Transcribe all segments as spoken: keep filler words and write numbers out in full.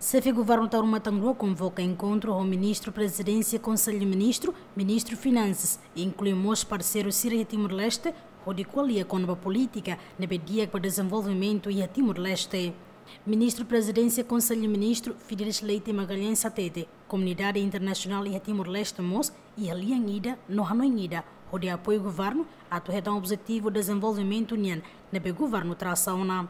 Xefe Governu Taur Matan Ruak konvoka enkontru ho Ministru Prezidénsia Konsellu Ministru, Ministru Finansas, inklui mós parseiru sira iha Timor-Leste, hodi ko'alia kona-ba polítika ne'ebé di'ak ba dezenvolvimentu iha Timor-Leste. Ministru Prezidénsia Konsellu Ministru, Fidelis Leite Magalhães hatete, komunidade internasionál iha Timor-Leste mós iha lian ida no hanoin ida hodi apoiu governu atu hetan objetivu dezenvolvimentu nian ne'ebé governu trasa ona.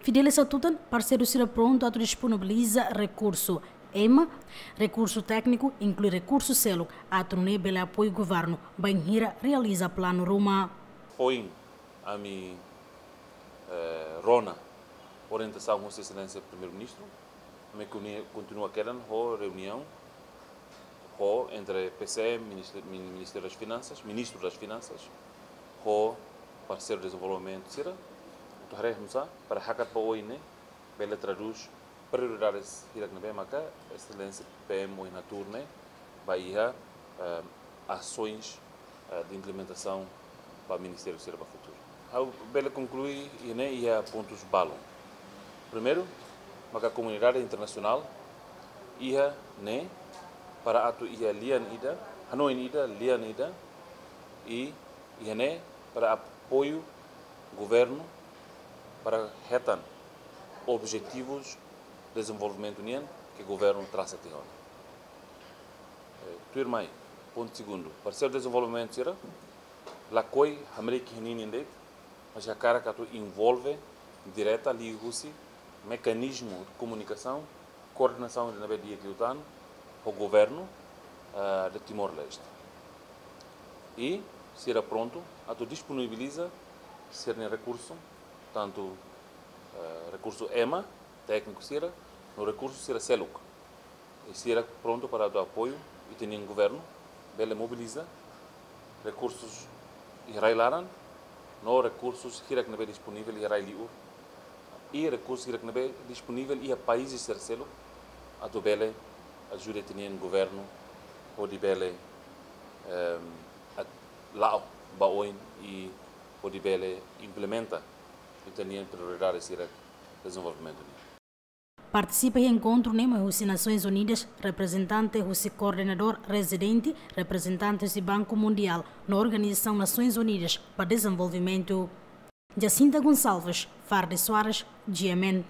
Fidelis hatutan, parseiru sira prontu atu disponibiliza rekursu ema, rekursu tékniku, inklui rekursu seluk, atu nune'e bele apoiu governu bainhira realiza planu ruma. Foin ami, eh, rona orientasaun husi Exelénsia Primeiru-Ministru, ami kontinu-, kontinua kedan ho reuniaun ho entre P C M, Ministri-, Min-, Ministériu das Finansas, Ministru das Finansas, ho parseiru dezenvolvimentu sira, atu haree nusá para hakat ba oin ne'e bele tradús prioridades hirak ne'ebé maka Exelénsia P M ohin hatuur ne'e ba iha, eh, asoens, eh, de implementasaun ba ministériu sira ba futuru. Ha'u bele konklui iha ne'e iha pontus balun. Primeiru, maka komunidade internasionál iha ne'e para atu iha lian ida, hanoin ida, lian ida, i iha ne'e para apoiu governu para hetan objetivus dezenvolvimentu nian ke governu trasa tiha ona. Eh, tuirmai, pontu segundu, parseiru dezenvolvimentu sira lakohi hamriik iha ninin de'it, mas hakarak atu envolve direta liuhusi mekanizmu de komunikasaun, koordenasaun ida ne'ebé di'ak liután ho governu, eh, de Timor-Leste. I sira prontu atu disponibiliza sira-nia rekursu, tantu, eh, rekursu ema, tékniku sira, no rekursu sira seluk. I sira prontu para atu apoiu ita-nia governu bele mobiliza rekursus iha rai-laran, no rekursus hirak ne'ebé disponivel iha rai-li'ur, i rekursus hirak ne'ebé disponivel iha países terseiru, atu bele ajuda ita-nia governu hodi bele, em, at-, la'o ba oin i hodi bele implementa ita-nia prioridades hirak dezenvolvimentu nian. Partisipa iha enkontru ne'e mai husi Nasoins Unidas, reprezentante husi koordenadór rezidente, reprezentante husi Banku Mundiál, no Organizasaun Nasoins Unidas ba Dezenvolvimentu. Jacinta Gonçalves, Fardy Soares, G M N.